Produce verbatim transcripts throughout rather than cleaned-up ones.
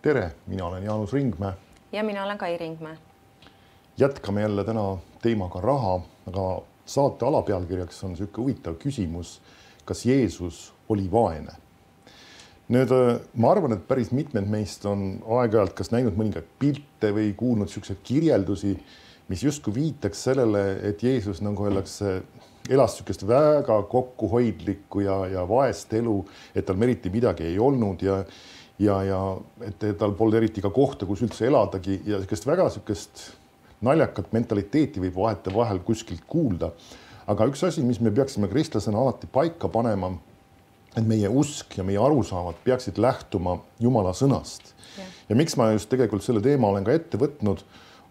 Tere, mina olen Jaanus Ringmäe. Ja mina olen Kai Ringmäe. Jätkame jälle täna teemaga raha, aga saate alapealkirjaks on selline huvitav küsimus, kas Jeesus oli vaene? Nüüd ma arvan, et päris mitmed meist on aeg-ajalt kas näinud mõningaid pilte või kuulnud selliseid kirjeldusi, mis justkui viitaks sellele, et Jeesus nagu öeldakse, elas sellisest väga kokkuhoidlikku ja, ja vaest elu, et tal eriti midagi ei olnud ja, ja, ja et tal polnud eriti ka kohta, kus üldse eladagi ja sellisest väga sellisest naljakat mentaliteeti võib vahete vahel kuskilt kuulda. Aga üks asi, mis me peaksime kristlasena alati paika panema, et meie usk ja meie arusaamad peaksid lähtuma Jumala sõnast. Ja. ja miks ma just tegelikult selle teema olen ka ette võtnud,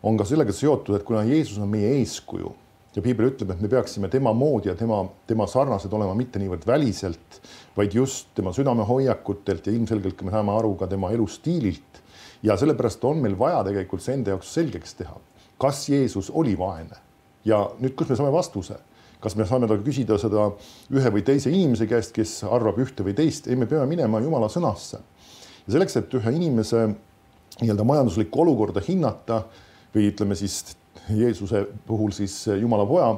on ka sellega seotud, et kuna Jeesus on meie eeskuju ja Piibel ütleb, et me peaksime tema moodi ja tema, tema sarnased olema mitte niivõrd väliselt, vaid just tema südamehoiakutelt ja ilmselgelt me saame aru ka tema elustiililt. Ja sellepärast on meil vaja tegelikult see enda jaoks selgeks teha. Kas Jeesus oli vaene? Ja nüüd, kus me saame vastuse? Kas me saame taga küsida seda ühe või teise inimese käest, kes arvab ühte või teist? Ei, me peame minema Jumala sõnasse. Ja selleks, et ühe inimese nii-öelda majanduslikku olukorda hinnata või ütleme siis Jeesuse puhul siis Jumala poja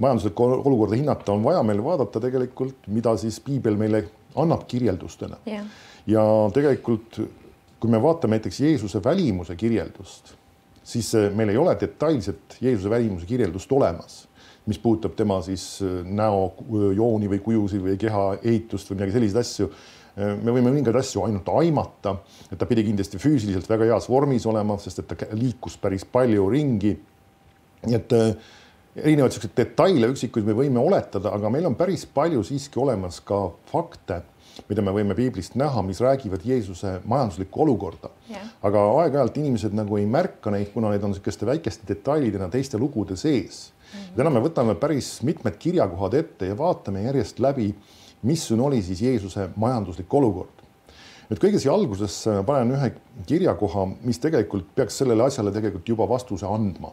majanduslikku olukorda hinnata, on vaja meil vaadata tegelikult, mida siis Piibel meile annab kirjeldustena. Yeah. Ja tegelikult, kui me vaatame näiteks Jeesuse välimuse kirjeldust, siis meil ei ole detailset Jeesuse välimuse kirjeldust olemas, mis puudutab tema siis näo jooni või kujusi või keha ehitust või midagi selliseid asju. Me võime mõningaid asju ainult aimata, et ta pidi kindlasti füüsiliselt väga heas vormis olema, sest et ta liikus päris palju ringi. Nii et erinevad sellised detaile üksikuid me võime oletada, aga meil on päris palju siiski olemas ka fakte, mida me võime Piiblist näha, mis räägivad Jeesuse majanduslikku olukorda. Yeah. Aga aeg-ajalt inimesed nagu ei märka neid, kuna need on sellised väikeste detailidena teiste lugude sees. Mm-hmm. Täna me võtame päris mitmed kirjakohad ette ja vaatame järjest läbi, missugune oli siis Jeesuse majanduslik olukord. Nüüd kõige siia alguses panen ühe kirjakoha, mis tegelikult peaks sellele asjale tegelikult juba vastuse andma.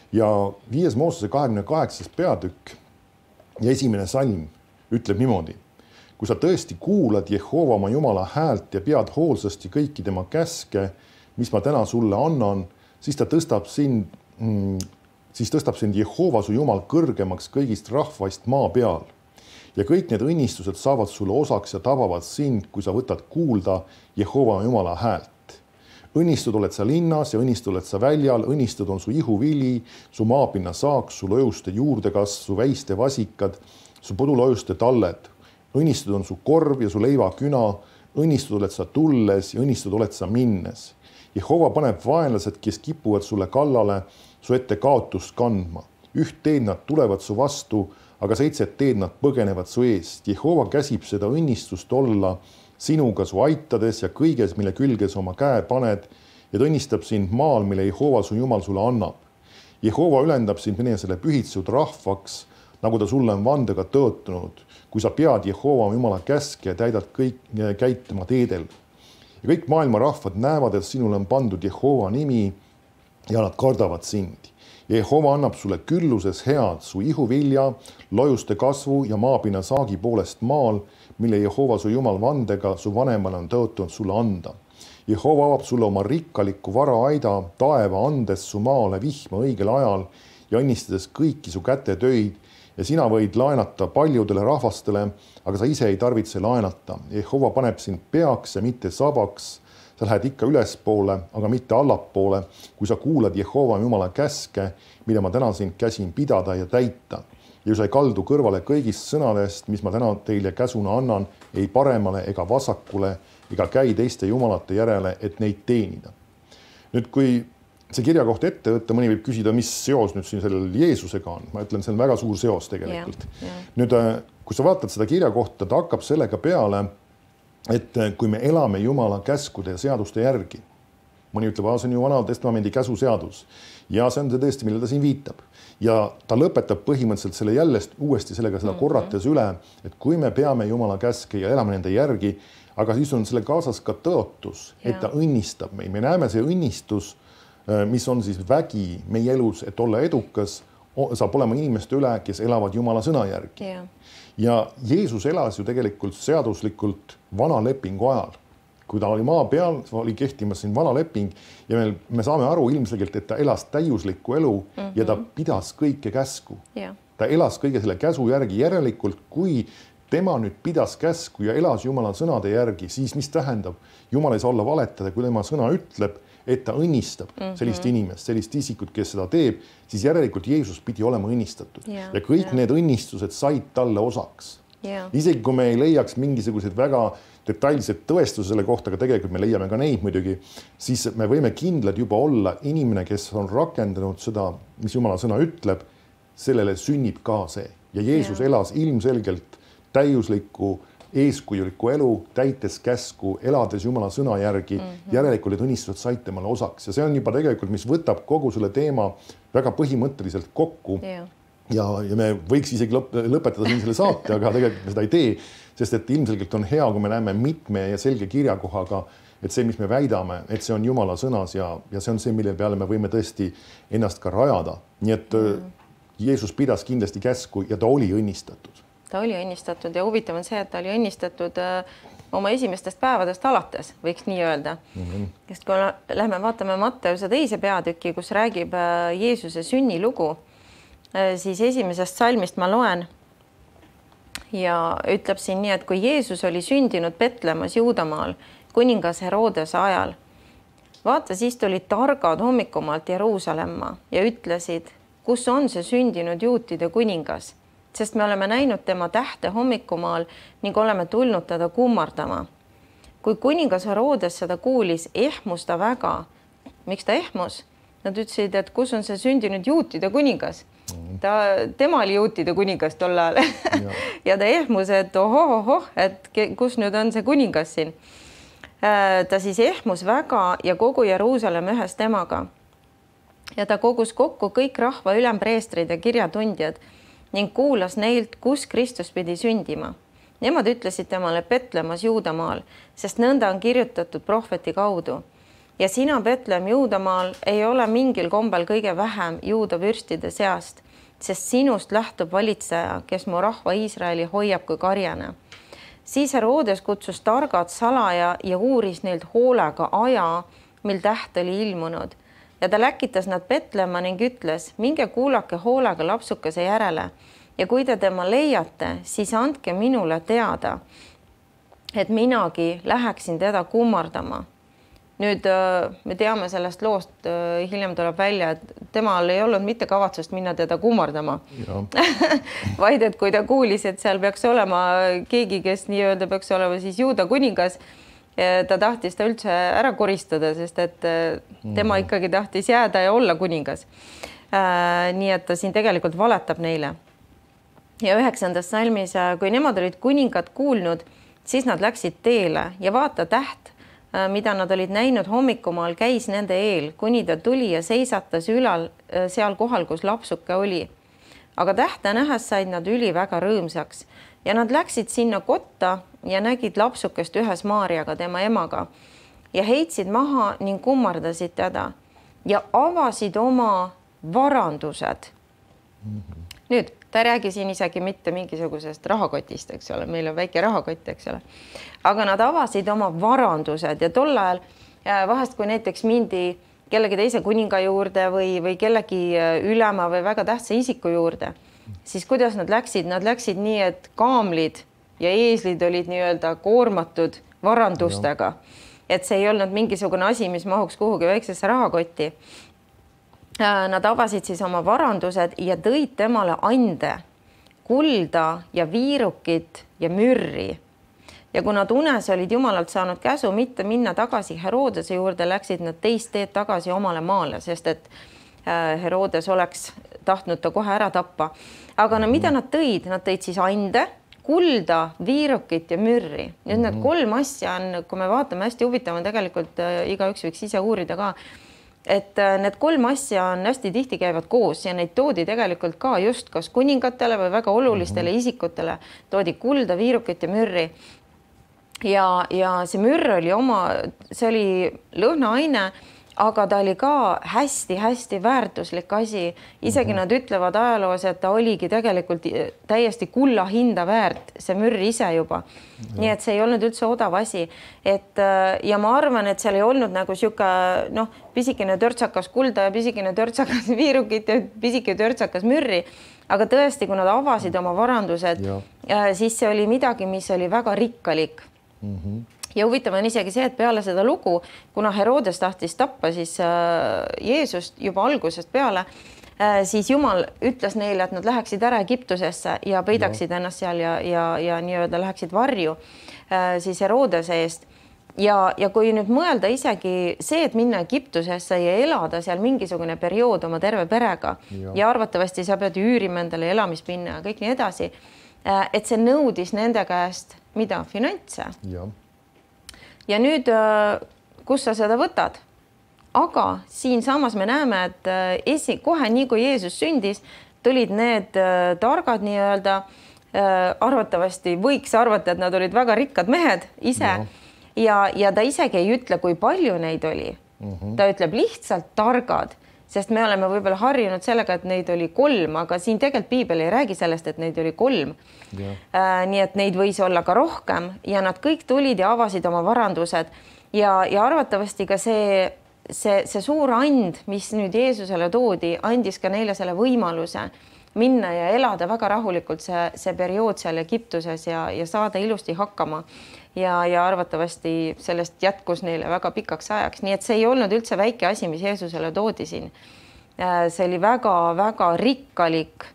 Ja viies Moosese kahekümne kaheksas peatükk ja esimene salm ütleb niimoodi. Kui sa tõesti kuulad Jehova oma Jumala häält ja pead hoolsasti kõiki tema käske, mis ma täna sulle annan, siis ta tõstab sind, mm, siis tõstab sind Jehova su Jumal kõrgemaks kõigist rahvaist maa peal. Ja kõik need õnnistused saavad sulle osaks ja tabavad sind, kui sa võtad kuulda Jehova Jumala häält. Õnnistud oled sa linnas ja õnnistud oled sa väljal, õnnistud on su ihuvili, su maapinna saaks, su lõjuste juurdekasv, su väiste vasikad, su podulõjuste talled. Õnnistud on su korv ja su leivaküna, õnnistud oled sa tulles ja õnnistud oled sa minnes. Jehova paneb vaenlased, kes kipuvad sulle kallale, su ette kaotust kandma. Üht teed nad tulevad su vastu, aga seitset teed nad põgenevad su eest. Jehova käsib seda õnnistust olla sinuga su aitades ja kõiges, mille külges oma käe paned ja ta õnnistab sind maal, mille Jehova su Jumal sulle annab. Jehova ülendab sind minesele pühitsud rahvaks, nagu ta sulle on vandega tõotunud, kui sa pead Jehova Jumala käske ja täidad kõik käid tema teedel. Ja kõik maailma rahvad näevad, et sinule on pandud Jehova nimi ja nad kardavad sind. Jehova annab sulle külluses head su ihuvilja, lojuste kasvu ja maapinna saagi poolest maal, mille Jehova su Jumal vandega su vanemale on tõotunud sulle anda. Jehova avab sulle oma rikkalikku varaaida, taeva andes su maale vihma õigel ajal ja õnnistades kõiki su kätetöid ja sina võid laenata paljudele rahvastele, aga sa ise ei tarvitse laenata. Jehova paneb sind peaks ja mitte sabaks. Sa lähed ikka ülespoole, aga mitte allapoole, kui sa kuulad Jehova Jumala käske, mida ma täna sind käsin pidada ja täita. Ja sa ei kaldu kõrvale kõigist sõnadest, mis ma täna teile käsuna annan, ei paremale ega vasakule, ega käi teiste jumalate järele, et neid teenida. Nüüd, kui see kirjakoht ette võtta, mõni võib küsida, mis seos nüüd siin sellel Jeesusega on. Ma ütlen, see on väga suur seos tegelikult. Ja, ja. Nüüd, kui sa vaatad seda kirjakohta, ta hakkab sellega peale, et kui me elame Jumala käskude ja seaduste järgi, mõni ütleb, see on ju vana testamendi käsuseadus ja see on see tõesti, mille ta siin viitab. Ja ta lõpetab põhimõtteliselt selle jällest uuesti sellega seda korrates üle, et kui me peame Jumala käske ja elame nende järgi, aga siis on selle kaasas ka tõotus, et ta õnnistab meid. Me näeme see õnnistus, mis on siis vägi meie elus, et olla edukas, saab olema inimeste üle, kes elavad Jumala sõna järgi. Yeah. Ja Jeesus elas ju tegelikult seaduslikult vana lepingu ajal, kui ta oli maa peal, oli kehtimas siin vana leping ja me, me saame aru ilmselgelt, et ta elas täiuslikku elu mm -hmm. ja ta pidas kõike käsku. Yeah. Ta elas kõige selle käsu järgi, järelikult kui tema nüüd pidas käsku ja elas Jumala sõnade järgi, siis mis tähendab? Jumal ei saa olla valetada, kui tema sõna ütleb, et ta õnnistab mm -hmm. sellist inimest, sellist isikut, kes seda teeb, siis järelikult Jeesus pidi olema õnnistatud yeah. ja kõik yeah. need õnnistused said talle osaks. Yeah. Isegi kui me ei leiaks mingisuguseid väga detailsed tõestuse selle kohta, aga tegelikult me leiame ka neid muidugi, siis me võime kindlad juba olla inimene, kes on rakendanud seda, mis Jumala sõna ütleb, sellele sünnib ka see. Ja Jeesus yeah. elas ilmselgelt täiuslikku eeskujulikku elu, täites käsku, elades Jumala sõna järgi, mm -hmm. järelikult need õnnistused said temale osaks ja see on juba tegelikult, mis võtab kogu selle teema väga põhimõtteliselt kokku yeah. ja, ja me võiks isegi lõp lõpetada siin selle saate, aga tegelikult me seda ei tee, sest et ilmselgelt on hea, kui me näeme mitme ja selge kirjakohaga, et see, mis me väidame, et see on Jumala sõnas ja, ja see on see, mille peale me võime tõesti ennast ka rajada. Nii et mm -hmm. Jeesus pidas kindlasti käsku ja ta oli õnnistatud. Ta oli õnnistatud ja huvitav on see, et ta oli õnnistatud oma esimestest päevadest alates, võiks nii öelda. Mm -hmm. Sest kui lähme vaatame Matteuse teise peatüki, kus räägib Jeesuse sünnilugu, siis esimesest salmist ma loen ja ütleb siin nii, et kui Jeesus oli sündinud Betlemas Juudamaal kuningas Herodese ajal, vaata, siis tulid targad hommikumaalt Jeruusalemma ja ütlesid, kus on see sündinud juutide kuningas, sest me oleme näinud tema tähte hommikumaal ning oleme tulnud teda kummardama. Kui kuningas Herodes seda kuulis, ehmus ta väga. Miks ta ehmus? Nad ütlesid, et kus on see sündinud juutide kuningas. Ta, tema oli juutide kuningas tol ajal ja. ja ta ehmus, et ohoh, ohoh, et kus nüüd on see kuningas siin. Ta siis ehmus väga ja kogu Jeruusalemm ühes temaga. Ja ta kogus kokku kõik rahva ülempreestrid ja kirjatundjad ning kuulas neilt, kus Kristus pidi sündima. Nemad ütlesid temale Betlemas Juudamaal, sest nõnda on kirjutatud prohveti kaudu. Ja sina, Betlehem Juudamaal, ei ole mingil kombel kõige vähem juuda vürstide seast, sest sinust lähtub valitseja, kes mu rahva Iisraeli hoiab kui karjane. Siis Herodes kutsus targad salaja ja uuris neilt hoolega aja, mil täht oli ilmunud. Ja ta läkitas nad Betlemma ning ütles, minge kuulake hoolega lapsukese järele ja kui te tema leiate, siis andke minule teada, et minagi läheksin teda kummardama. Nüüd me teame sellest loost, hiljem tuleb välja, et temal ei olnud mitte kavatsust minna teda kummardama. Vaid, et kui ta kuulis, et seal peaks olema keegi, kes nii-öelda peaks olema siis juuda kuningas, ta tahtis ta üldse ära koristada, sest et tema ikkagi tahtis jääda ja olla kuningas. Nii et ta siin tegelikult valetab neile. Ja üheksandas salmis, kui nemad olid kuningad kuulnud, siis nad läksid teele ja vaata täht, mida nad olid näinud hommikumaal, käis nende eel, kuni ta tuli ja seisatas ülal seal kohal, kus lapsuke oli. Aga tähte nähes said nad üli väga rõõmsaks ja nad läksid sinna kotta ja nägid lapsukest ühes Maarjaga, tema emaga, ja heitsid maha ning kummardasid teda ja avasid oma varandused. Mm-hmm. Nüüd, ta räägi siin isegi mitte mingisugusest rahakotist, eks ole, meil on väike rahakott, eks ole. Aga nad avasid oma varandused ja tol ajal vahest, kui näiteks mindi kellegi teise kuninga juurde või, või kellegi ülema või väga tähtsa isiku juurde, siis kuidas nad läksid? Nad läksid nii, et kaamlid ja eeslid olid nii-öelda koormatud varandustega. Et see ei olnud mingisugune asi, mis mahuks kuhugi väiksesse rahakotti. Nad avasid siis oma varandused ja tõid temale ande, kulda ja viirukit ja mürri. Ja kui nad unes olid Jumalalt saanud käsu mitte minna tagasi Herodese juurde, läksid nad teist teed tagasi omale maale, sest et Herodes oleks tahtnud ta kohe ära tappa. Aga no mida nad tõid? Nad tõid siis ande, kulda, viirukit ja mürri. Nüüd need kolm asja on, kui me vaatame, hästi huvitav on tegelikult, igaüks võiks ise uurida ka, et need kolm asja on hästi tihti käivad koos ja neid toodi tegelikult ka just kas kuningatele või väga olulistele isikutele. Toodi kulda, viirukit ja mürri. Ja, ja see mürr oli oma, see oli lõhnaaine, aga ta oli ka hästi-hästi väärtuslik asi. Isegi mm -hmm. nad ütlevad ajaloos, et ta oligi tegelikult täiesti kulla hinda väärt, see mürr ise juba. Ja. Nii et see ei olnud üldse odav asi. Et, ja ma arvan, et seal ei olnud nagu siuke, noh, pisikene törtsakas kulda ja pisikene törtsakas viirukit ja pisikene törtsakas mürri. Aga tõesti, kui nad avasid oma varandused, ja. siis see oli midagi, mis oli väga rikkalik. Mm -hmm. Ja huvitav on isegi see, et peale seda lugu, kuna Herodes tahtis tappa siis Jeesust juba algusest peale, siis Jumal ütles neile, et nad läheksid ära Egiptusesse ja peidaksid ja. ennast seal ja, ja, ja nii-öelda läheksid varju siis Herodese eest. Ja, ja kui nüüd mõelda isegi see, et minna Egiptusesse ja elada seal mingisugune periood oma terve perega ja, ja arvatavasti sa pead üürima endale elamispinna ja kõik nii edasi, et see nõudis nende käest mida? Finantse. Ja. Ja nüüd, kus sa seda võtad? Aga siinsamas me näeme, et esi, kohe nii kui Jeesus sündis, tulid need targad nii-öelda, arvatavasti võiks arvata, et nad olid väga rikkad mehed ise ja, ja, ja ta isegi ei ütle, kui palju neid oli. Mm -hmm. Ta ütleb lihtsalt targad, sest me oleme võib-olla harjunud sellega, et neid oli kolm, aga siin tegelikult Piibel ei räägi sellest, et neid oli kolm. Äh, nii et neid võis olla ka rohkem ja nad kõik tulid ja avasid oma varandused ja, ja arvatavasti ka see, see, see suur and, mis nüüd Jeesusele toodi, andis ka neile selle võimaluse minna ja elada väga rahulikult see, see periood seal Egiptuses ja, ja saada ilusti hakkama. Ja, ja arvatavasti sellest jätkus neile väga pikaks ajaks. Nii et see ei olnud üldse väike asi, mis Jeesusele toodi siin. See oli väga-väga rikkalik,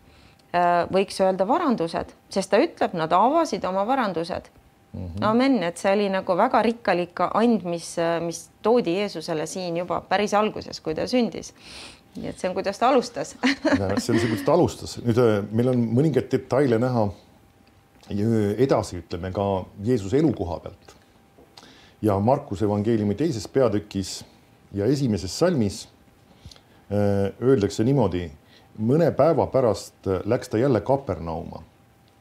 võiks öelda varandused, sest ta ütleb, nad avasid oma varandused. Mm-hmm. Amen, et see oli nagu väga rikkalik and, mis, mis toodi Jeesusele siin juba päris alguses, kui ta sündis. Nii et see on, kuidas ta alustas. See on see, kuidas ta alustas. Nüüd meil on mõningaid detaile näha edasi, ütleme ka Jeesuse elukoha pealt. Ja Markuse evangeeliumi teises peatükis ja esimeses salmis öeldakse niimoodi, mõne päeva pärast läks ta jälle Kapernauma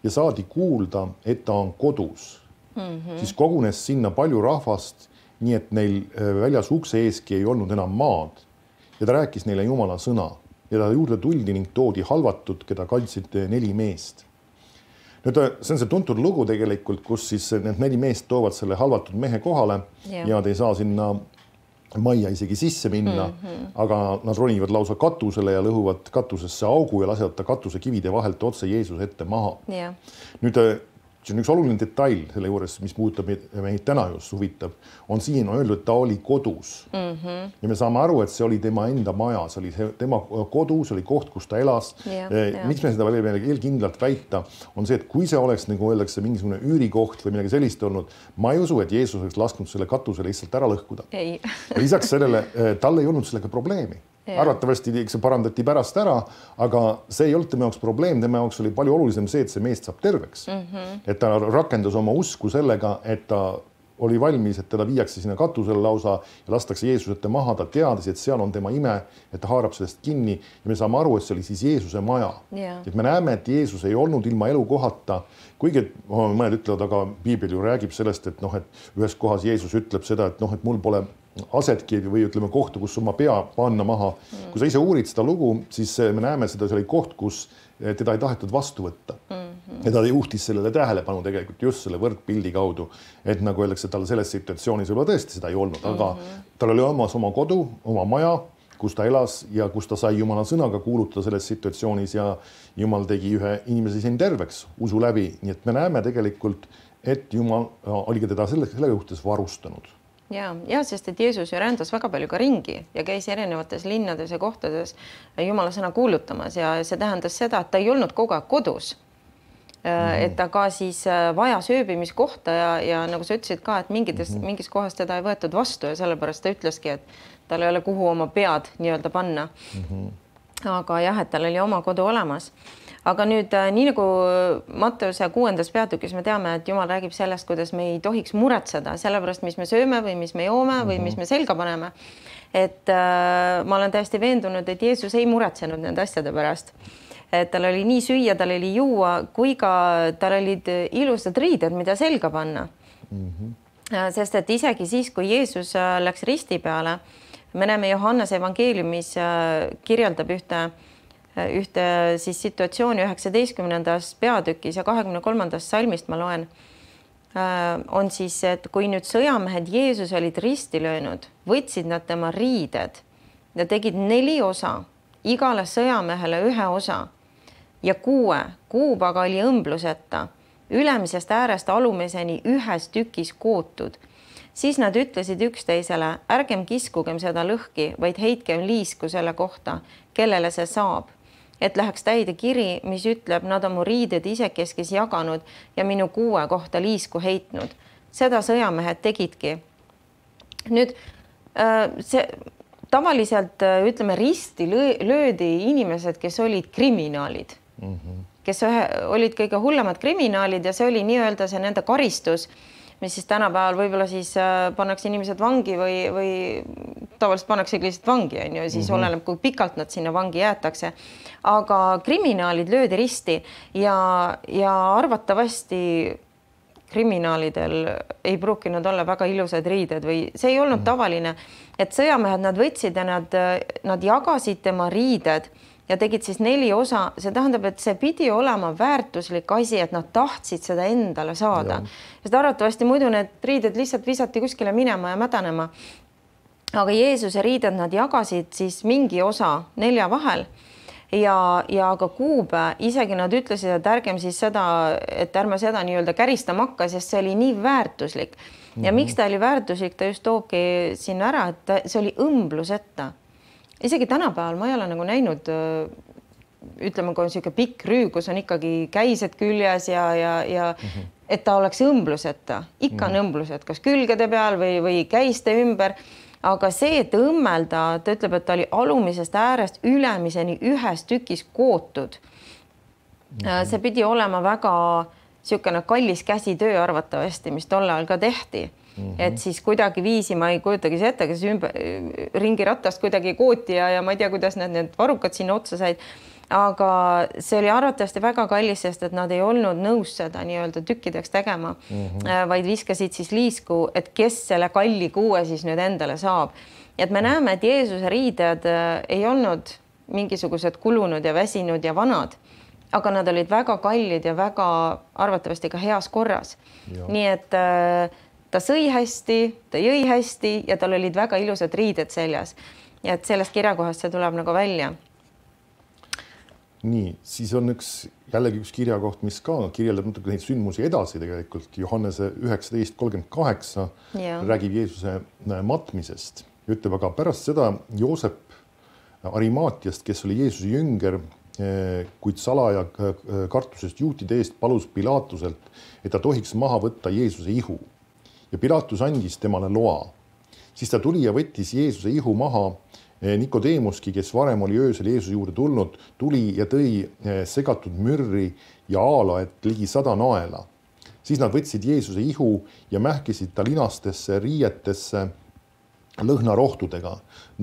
ja saadi kuulda, et ta on kodus. Mm-hmm. Siis kogunes sinna palju rahvast, nii et neil väljas ukse eeski ei olnud enam maad. Ja ta rääkis neile Jumala sõna ja ta juurde tuldi ning toodi halvatud, keda kandsid neli meest. Nüüd, see on see tuntud lugu tegelikult, kus siis need neli meest toovad selle halvatud mehe kohale ja, ja te ei saa sinna majja isegi sisse minna, mm-hmm. aga nad ronivad lausa katusele ja lõhuvad katusesse augu ja lasevad ta katuse kivide vahelt otse Jeesuse ette maha. Ja. Nüüd, see on üks oluline detail selle juures, mis puudutab meid täna just huvitab, on siin on öeldud, et ta oli kodus. Mm-hmm. Ja me saame aru, et see oli tema enda maja, see oli tema kodus, oli koht, kus ta elas. Ja, ja. Miks me seda veel eelkindlalt väita, on see, et kui see oleks, nagu öeldakse, mingisugune üürikoht või midagi sellist olnud, ma ei usu, et Jeesus oleks lasknud selle katusele lihtsalt ära lõhkuda. Ei. Lisaks sellele, tal ei olnud sellega probleemi. Ja. Arvatavasti see parandati pärast ära, aga see ei olnud tema jaoks probleem, tema jaoks oli palju olulisem see, et see meest saab terveks. Mm-hmm. Et ta rakendas oma usku sellega, et ta oli valmis, et teda viiakse sinna katusele lausa ja lastakse Jeesusete maha, ta teadis, et seal on tema ime, et ta haarab sellest kinni ja me saame aru, et see oli siis Jeesuse maja. Yeah. Et me näeme, et Jeesus ei olnud ilma elukohata, kuigi mõned ütlevad, aga Piibel ju räägib sellest, et noh, et ühes kohas Jeesus ütleb seda, et noh, et mul pole asetki või ütleme kohta, kus oma pea panna maha. Mm. Kui sa ise uurid seda lugu, siis me näeme seda, see oli koht, kus teda ei tahetud vastu võtta. Mm-hmm. Ja ta juhtis sellele tähelepanu tegelikult just selle võrdpildi kaudu, et nagu öeldakse, tal selles situatsioonis võib tõesti seda ei olnud, aga mm-hmm. tal oli omas oma kodu, oma maja, kus ta elas ja kus ta sai Jumala sõnaga kuulutada selles situatsioonis ja Jumal tegi ühe inimese siin terveks usu läbi. Nii et me näeme tegelikult, et Jumal oli teda selle, selle juhtes varustanud. Ja, ja, sest et Jeesus ju rändas väga palju ka ringi ja käis erinevates linnades ja kohtades Jumala sõna kuulutamas ja see tähendas seda, et ta ei olnud kogu aeg kodus. Mm-hmm. Et ta ka siis vajas ööbimiskohta ja, ja nagu sa ütlesid ka, et mingites, mm-hmm. mingis kohas teda ei võetud vastu ja sellepärast ta ütleski, et tal ei ole kuhu oma pead nii-öelda panna. Mm-hmm. Aga jah, et tal oli oma kodu olemas. Aga nüüd nii nagu Matteuse kuuendas peatükis me teame, et Jumal räägib sellest, kuidas me ei tohiks muretseda sellepärast, mis me sööme või mis me joome või mis me selga paneme. Et äh, ma olen täiesti veendunud, et Jeesus ei muretsenud nende asjade pärast. Et tal oli nii süüa, tal oli juua, kui ka tal olid ilusad riided, mida selga panna. Mm-hmm. Sest et isegi siis, kui Jeesus läks risti peale, me näeme Johannese evangeeliumis kirjeldab ühte, ühte siis situatsiooni üheksateistkümnendas peatükis ja kahekümne kolmandast salmist ma loen, on siis, et kui nüüd sõjamehed Jeesus olid risti löönud, võtsid nad tema riided ja tegid neli osa, igale sõjamehele ühe osa ja kuue, kuub aga oli õmbluseta, ülemisest äärest alumiseni ühes tükis kootud. Siis nad ütlesid üksteisele, ärgem kiskugem seda lõhki, vaid heitkem liisku selle kohta, kellele see saab. Et läheks täide kiri, mis ütleb, nad on mu riided isekeskis jaganud ja minu kuue kohta liisku heitnud. Seda sõjamehed tegidki. Nüüd see tavaliselt, ütleme, risti löödi inimesed, kes olid kriminaalid, mm-hmm. kes olid kõige hullemad kriminaalid ja see oli nii-öelda see nende karistus, mis siis tänapäeval võib-olla siis pannakse inimesed vangi või, või tavaliselt pannakse lihtsalt vangi, on ju, siis mm-hmm. oleneb, kui pikalt nad sinna vangi jäetakse. Aga kriminaalid löödi risti ja, ja arvatavasti kriminaalidel ei pruukinud olla väga ilusad riided või see ei olnud mm-hmm. tavaline, et sõjamehed nad võtsid ja nad, nad jagasid tema riided ja tegid siis neli osa. See tähendab, et see pidi olema väärtuslik asi, et nad tahtsid seda endale saada. Sest arvatavasti muidu need riided lihtsalt visati kuskile minema ja mädanema. Aga Jeesuse riided nad jagasid siis mingi osa nelja vahel ja, ja aga kuube, isegi nad ütlesid, et ärgem siis seda, et ärme seda nii-öelda käristama hakka, sest see oli nii väärtuslik. Ja mm-hmm. miks ta oli väärtuslik, ta just toobki sinna ära, et see oli õmbluseta. Isegi tänapäeval ma ei ole nagu näinud, ütleme, kui on selline pikk rüü, kus on ikkagi käised küljes ja, ja, ja mm-hmm. et ta oleks õmbluseta. Ikka mm-hmm. on õmblused, kas külgede peal või, või käiste ümber. Aga see, et õmmelda, ta ütleb, et ta oli alumisest äärest ülemiseni ühes tükis kootud. Mm-hmm. See pidi olema väga selline kallis käsitöö arvatavasti, mis tol ajal ka tehti. Mm-hmm. Et siis kuidagi viisi, ma ei kujutagi see ette, kes ümber, ringiratast kuidagi kooti ja, ja ma ei tea, kuidas need, need varrukad sinna otsa said. Aga see oli arvatavasti väga kallis, sest et nad ei olnud nõus seda nii-öelda tükkideks tegema, mm-hmm. vaid viskasid siis liisku, et kes selle kalli kuue siis nüüd endale saab. Et me näeme, et Jeesuse riided ei olnud mingisugused kulunud ja väsinud ja vanad, aga nad olid väga kallid ja väga arvatavasti ka heas korras. Ja. Nii et ta sõi hästi, ta jõi hästi ja tal olid väga ilusad riided seljas. Ja et sellest kirjakohast see tuleb nagu välja. Nii, siis on üks, jällegi üks kirjakoht, mis ka kirjeldab natuke neid sündmusi edasi tegelikult. Johannese üheksateist kolmkümmend kaheksa ja. Räägib Jeesuse matmisest. Ütleb aga pärast seda Joosep Arimaatiast, kes oli Jeesuse jünger, kuid salaja kartusest juutide eest palus Pilatuselt, et ta tohiks maha võtta Jeesuse ihu. Ja Pilatus andis temale loa. Siis ta tuli ja võttis Jeesuse ihu maha. Nikodeemuski, kes varem oli öösel Jeesuse juurde tulnud, tuli ja tõi segatud mürri ja aaloet ligi sada naela. Siis nad võtsid Jeesuse ihu ja mähkisid ta linastesse riietesse lõhnarohtudega,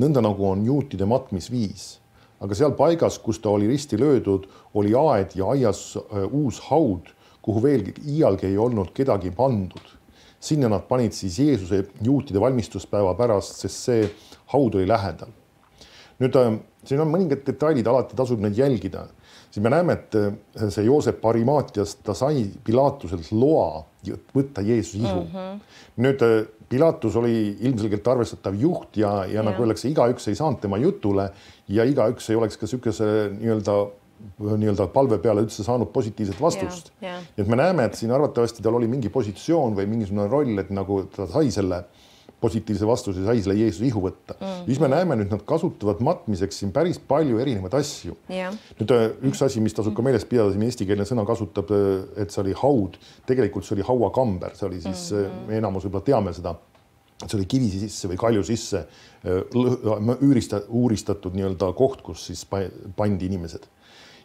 nõnda nagu on juutide matmisviis. Aga seal paigas, kus ta oli risti löödud, oli aed ja aias uus haud, kuhu veel iialgi ei olnud kedagi pandud. Sinna nad panid siis Jeesuse juutide valmistuspäeva pärast, sest see haud oli lähedal. Nüüd siin on mõningad detailid, alati tasub neid jälgida. Siis me näeme, et see Joosep Arimaatiast ta sai Pilatuselt loa võtta Jeesuse ihu. Mm-hmm. Nüüd Pilatus oli ilmselgelt arvestatav juht ja, ja, ja. Nagu öeldakse, igaüks ei saanud tema jutule ja igaüks ei oleks ka sükese nii-öelda, nii-öelda palve peale üldse saanud positiivset vastust. Ja, ja. Et me näeme, et siin arvatavasti tal oli mingi positsioon või mingisugune roll, et nagu ta sai selle positiivse vastuse, sai selle Jeesuse ihu võtta. Mm. Siis me näeme nüüd, nad kasutavad matmiseks siin päris palju erinevaid asju. Yeah. Nüüd üks asi, mis tasub ka meeles pidada, siin eestikeelne sõna kasutab, et see oli haud. Tegelikult see oli hauakamber, see oli siis, mm-hmm. me enamus võib-olla teame seda, see oli kivi sisse või kalju sisse üürista, uuristatud nii-öelda koht, kus siis pandi inimesed.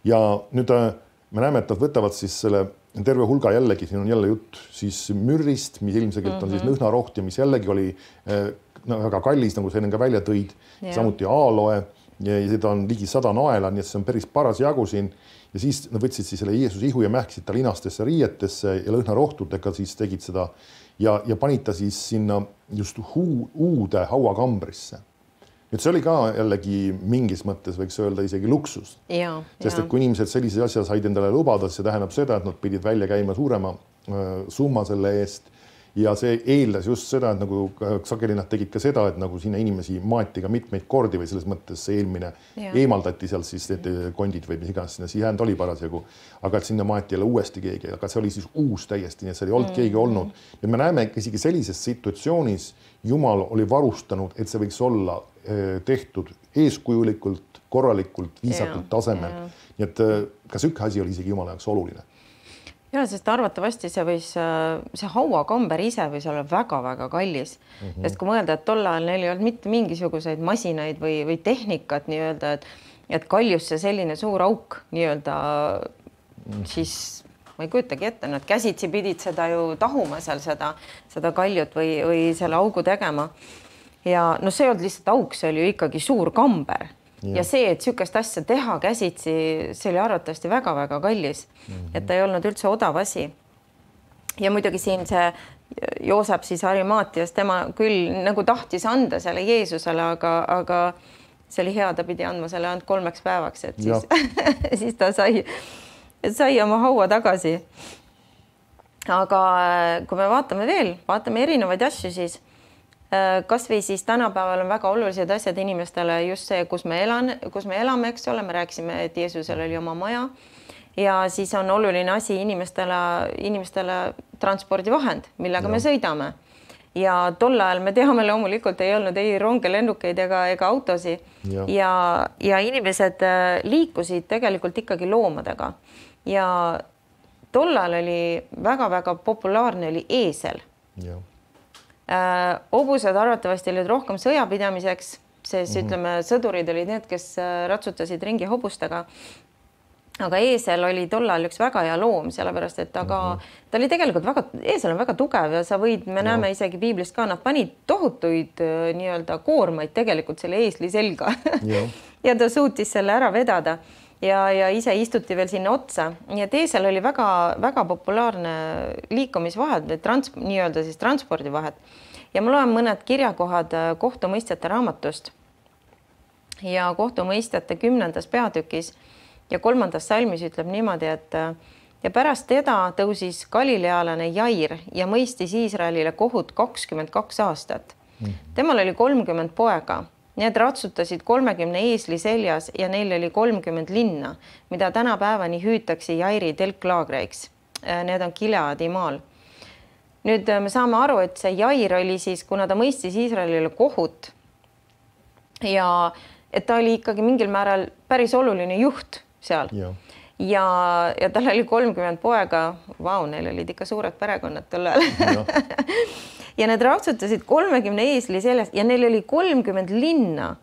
Ja nüüd me näeme, et nad võtavad siis selle terve hulga jällegi, siin on jälle jutt siis mürrist, mis ilmselgelt on mm-hmm. siis lõhnaroht ja mis jällegi oli no, väga kallis, nagu see enne ka välja tõid, yeah. Samuti aaloe ja seda on ligi sada naela, nii et see on päris paras jagu siin. Ja siis nad võtsid siis selle Jeesuse ihu ja mähkisid ta linastesse riietesse ja lõhnarohtudega siis tegid seda ja, ja panid ta siis sinna just huu, uude hauakambrisse. nüüd see oli ka jällegi mingis mõttes võiks öelda isegi luksus. Ja, sest ja. et kui inimesed sellise asja said endale lubada, see tähendab seda, et nad pidid välja käima suurema summa selle eest ja see eeldas just seda, et nagu sageli nad tegid ka seda, et nagu sinna inimesi maati ka mitmeid kordi või selles mõttes see eelmine ja. eemaldati sealt siis need kondid või mis iganes sinna sihänd oli parasjagu, aga et sinna maati jälle uuesti keegi, aga see oli siis uus täiesti, nii et see ei olnud mm. keegi olnud. Ja me näeme isegi sellises situatsioonis Jumal oli varustanud, et see võiks olla tehtud eeskujulikult, korralikult, viisakult ja. tasemel. Ja. Nii et ka sükk asi oli isegi Jumala jaoks oluline. Ja, sest arvatavasti see võis, see hauakamber ise võis olla väga-väga kallis. Mm -hmm. Sest kui mõelda, et tol ajal neil ei olnud mitte mingisuguseid masinaid või, või tehnikat nii-öelda, et, et kaljusse selline suur auk nii-öelda mm -hmm. siis ma ei kujutagi ette, nad käsitsi pidid seda ju tahuma seal seda, seda kaljut või, või selle augu tegema. Ja no see ei olnud lihtsalt auk, see oli ju ikkagi suur kamber. Ja. ja see, et sükest asja teha käsitsi, see oli arvatavasti väga-väga kallis, mm -hmm. et ta ei olnud üldse odav asi. Ja muidugi siin see Joosep siis Arimaatias, tema küll nagu tahtis anda selle Jeesusele, aga, aga see oli hea, ta pidi andma selle ainult kolmeks päevaks, et siis, siis ta sai, sai oma haua tagasi. Aga kui me vaatame veel, vaatame erinevaid asju, siis kas või siis tänapäeval on väga olulised asjad inimestele just see, kus me elan, kus me elame, eks ole, me rääkisime, et Jeesusel oli oma maja ja siis on oluline asi inimestele, inimestele transpordivahend, millega ja. me sõidame. Ja tol ajal me teame loomulikult ei olnud ei ronge, lennukeid ega, ega autosi ja. Ja, ja inimesed liikusid tegelikult ikkagi loomadega ja tol ajal oli väga-väga populaarne oli eesel. Ja. Äh, hobused arvatavasti olid rohkem sõjapidamiseks, sest mm -hmm. ütleme, sõdurid olid need, kes ratsutasid ringi hobustega. Aga eesel oli tollal üks väga hea loom, sellepärast et aga mm -hmm. ta oli tegelikult väga, eesel on väga tugev ja sa võid, me no. näeme isegi piiblist ka, nad panid tohutuid nii-öelda koormaid tegelikult selle eesli selga ja ta suutis selle ära vedada ja, ja ise istuti veel sinna otsa. Nii et eesel oli väga, väga populaarne liikumisvahed, trans, nii-öelda siis transpordivahed. Ja ma loen mõned kirjakohad kohtumõistjate raamatust ja kohtumõistjate kümnendas peatükis ja kolmandas salmis ütleb niimoodi, et ja pärast teda tõusis galilealane Jair ja mõistis Iisraelile kohut kakskümmend kaks aastat. Temal oli kolmkümmend poega. Need ratsutasid kolmekümne eesli seljas ja neil oli kolmkümmend linna, mida tänapäevani hüütakse Jairi telklaagreiks. Need on Gileadi maal. Nüüd me saame aru, et see Jair oli siis, kuna ta mõistis Iisraelile kohut ja et ta oli ikkagi mingil määral päris oluline juht seal. Ja, ja, ja tal oli kolmkümmend poega. Vau, neil olid ikka suured perekonnad tol ajal. Ja. Ja need ratsutasid kolmekümne eesli sellest ja neil oli kolmkümmend linna,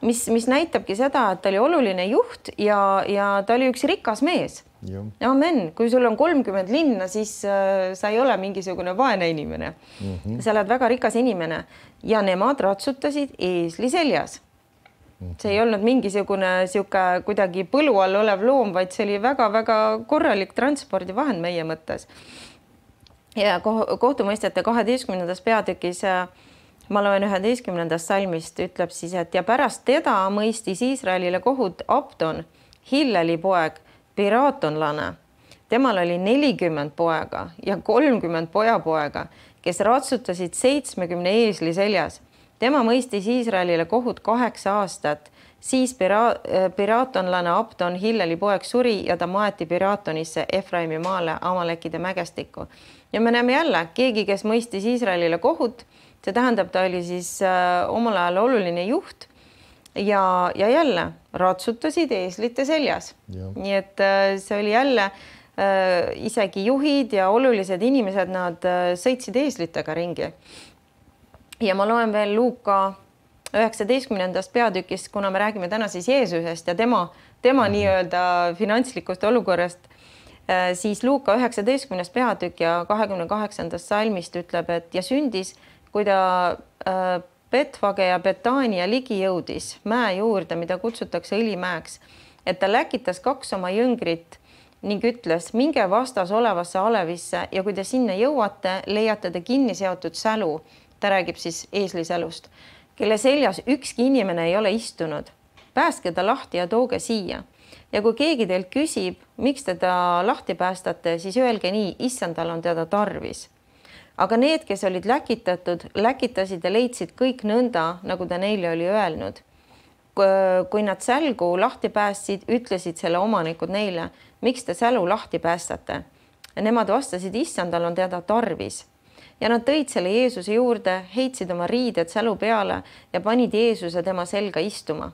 mis, mis näitabki seda, et ta oli oluline juht ja, ja ta oli üks rikas mees. Ja. Amen. Kui sul on kolmkümmend linna, siis äh, sa ei ole mingisugune vaene inimene. Mm -hmm. Sa oled väga rikas inimene ja nemad ratsutasid eesli seljas. Mm -hmm. See ei olnud mingisugune siuke kuidagi põlu all olev loom, vaid see oli väga-väga korralik transpordivahend meie mõttes. Ja kohtumõistjate kaheteistkümnendas peatükis ma loen üheteistkümnendast salmist ütleb siis, et ja pärast teda mõistis Iisraelile kohut Abdon, Hilleli poeg, piraatonlane. Temal oli nelikümmend poega ja kolmkümmend pojapoega, kes ratsutasid seitsmekümne eesli seljas. Tema mõistis Iisraelile kohut kaheksa aastat. Siis pira, piraatonlane Abdon, Hilleli poeg, suri ja ta maeti Piraatonisse Efraimi maale Amalekide mägestikku. Ja me näeme jälle, keegi, kes mõistis Iisraelile kohut, see tähendab, ta oli siis äh, omal ajal oluline juht ja, ja jälle ratsutasid eeslite seljas. Ja. Nii et äh, see oli jälle äh, isegi juhid ja olulised inimesed, nad äh, sõitsid eeslitega ringi. Ja ma loen veel Luuka üheksateistkümnendast peatükist, kuna me räägime täna siis Jeesusest ja tema, tema nii-öelda finantslikust olukorrast, siis Luuka üheksateistkümnes peatükk ja kahekümne kaheksandast salmist ütleb, et ja sündis, kui ta Betfage ja Betania ligi jõudis mäe juurde, mida kutsutakse õlimäeks, et ta läkitas kaks oma jüngrit ning ütles, minge vastas olevasse alevisse ja kui te sinna jõuate, leiate te kinni seotud sälu. Ta räägib siis eeslisälust. kelle seljas ükski inimene ei ole istunud. Päästke ta lahti ja tooge siia. Ja kui keegi teilt küsib, miks teda lahti päästate, siis öelge nii, issandal on teda tarvis. Aga need, kes olid läkitatud, läkitasid ja leidsid kõik nõnda, nagu ta neile oli öelnud. Kui nad sälgu lahti päästsid, ütlesid selle omanikud neile, miks te sälu lahti päästate. Nemad vastasid, issandal on teda tarvis. Ja nad tõid selle Jeesuse juurde, heitsid oma riided sälu peale ja panid Jeesuse tema selga istuma.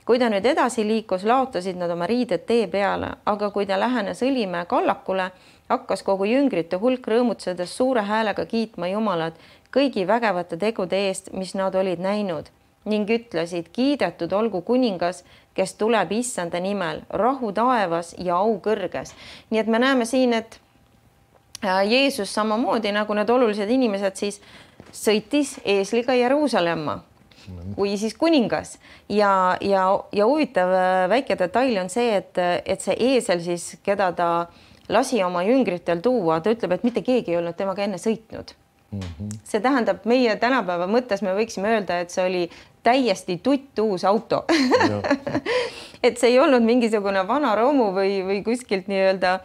Kui ta nüüd edasi liikus, laotasid nad oma riided tee peale, aga kui ta lähenes Õlimäe kallakule, hakkas kogu jüngrite hulk rõõmutsedes suure häälega kiitma Jumalat kõigi vägevate tegude eest, mis nad olid näinud ning ütlesid, kiidetud olgu kuningas, kes tuleb issanda nimel, rahu taevas ja au kõrges. Nii et me näeme siin, et Jeesus samamoodi nagu need olulised inimesed siis sõitis eesliga Jeruusalemma kui siis kuningas ja, ja, ja huvitav väike detail on see, et, et see eesel siis, keda ta lasi oma jüngritel tuua, ta ütleb, et mitte keegi ei olnud temaga enne sõitnud. Mm-hmm. See tähendab, meie tänapäeva mõttes me võiksime öelda, et see oli täiesti tutt uus auto. Et see ei olnud mingisugune vana romu või, või kuskilt nii-öelda,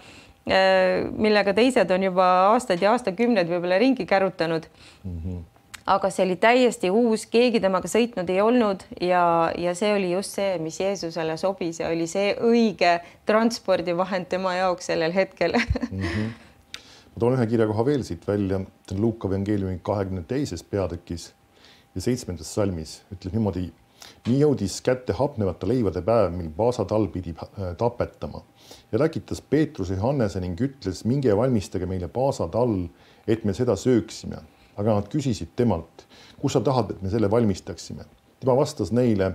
millega teised on juba aastaid ja aastakümned võib-olla ringi kärutanud. Mm-hmm. Aga see oli täiesti uus, keegi temaga sõitnud ei olnud ja, ja see oli just see, mis Jeesusele sobis ja oli see õige transpordivahend tema jaoks sellel hetkel. Mm-hmm. Ma toon ühe kirjakoha veel siit välja, Luuka evangeeliumi kahekümne teises peatükis ja seitsmendas salmis ütleb niimoodi, nii jõudis kätte hapnevate leivade päev, mil Paasatall pidi tapetama ja läkitas Peetruse Johannese ning ütles, minge valmistage meile Paasatall, et me seda sööksime. Aga nad küsisid temalt, kus sa tahad, et me selle valmistaksime. Tema vastas neile,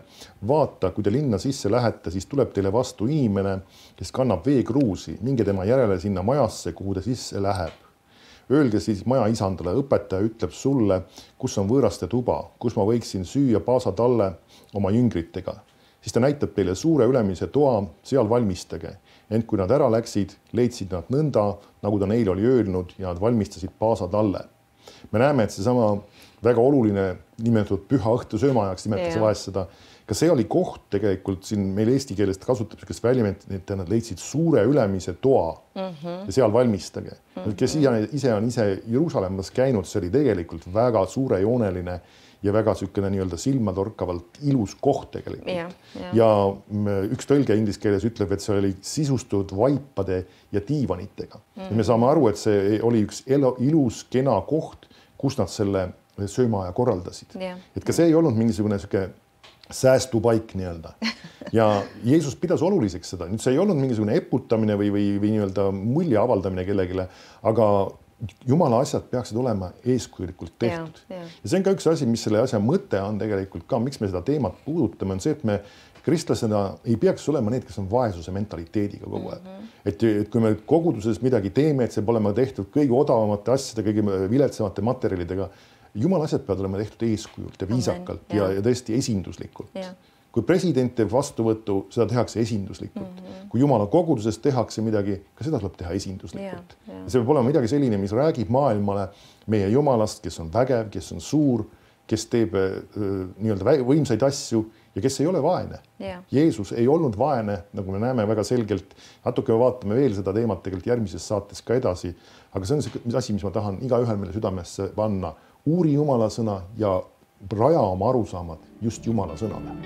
vaata, kui te linna sisse lähete, siis tuleb teile vastu inimene, kes kannab veekruusi, minge tema järele sinna majasse, kuhu ta sisse läheb. Öelge siis maja isandale, õpetaja ütleb sulle, kus on võõraste tuba, kus ma võiksin süüa Paasatalle oma jüngritega. Siis ta näitab teile suure ülemise toa, seal valmistage. Ent kui nad ära läksid, leidsid nad nõnda, nagu ta neile oli öelnud ja nad valmistasid Paasatalle. Me näeme, et seesama väga oluline nimetatud püha õhtu söömaajaks nimetas vahest seda. Ka see oli koht tegelikult siin meil eesti keelest kasutab, kes väljament, et nad leidsid suure ülemise toa mm-hmm. ja seal valmistage. Mm-hmm. Kes ise on ise Jeruusalemmas käinud, see oli tegelikult väga suurejooneline ja väga sükene nii-öelda silmatorkavalt ilus koht tegelikult. Ja, ja. ja üks tõlge inglise keeles ütleb, et see oli sisustatud vaipade ja diivanitega. Mm-hmm. Ja me saame aru, et see oli üks ilus, kena koht, kus nad selle söömaaja korraldasid. Ja. Et ka see ei olnud mingisugune süke säästupaik nii-öelda. Ja Jeesus pidas oluliseks seda. Nüüd see ei olnud mingisugune eputamine või, või, või nii-öelda mulje avaldamine kellegile, aga Jumala asjad peaksid olema eeskujulikult tehtud. Ja, ja. ja see on ka üks asi, mis selle asja mõte on tegelikult ka, miks me seda teemat puudutame, on see, et me kristlasena ei peaks olema need, kes on vaesuse mentaliteediga kogu aeg. Mm-hmm. Et, et kui me koguduses midagi teeme, et see pole tehtud kõige odavamate asjade, kõige viletsamate materjalidega, Jumala asjad peavad olema tehtud eeskujult ja viisakalt Amen, ja, ja tõesti esinduslikult. Ja. Kui president teeb vastuvõttu, seda tehakse esinduslikult. Mm-hmm. Kui Jumala koguduses tehakse midagi, ka seda tuleb teha esinduslikult. Ja, ja. See peab olema midagi selline, mis räägib maailmale meie Jumalast, kes on vägev, kes on suur, kes teeb äh, nii-öelda võimsaid asju ja kes ei ole vaene. Ja. Jeesus ei olnud vaene, nagu me näeme väga selgelt. Natuke me vaatame veel seda teemat tegelikult järgmises saates ka edasi. Aga see on see asi, mis ma tahan iga ühel meile südamesse panna. Uuri Jumala sõna ja raja oma arusaamad just Jumala sõnale.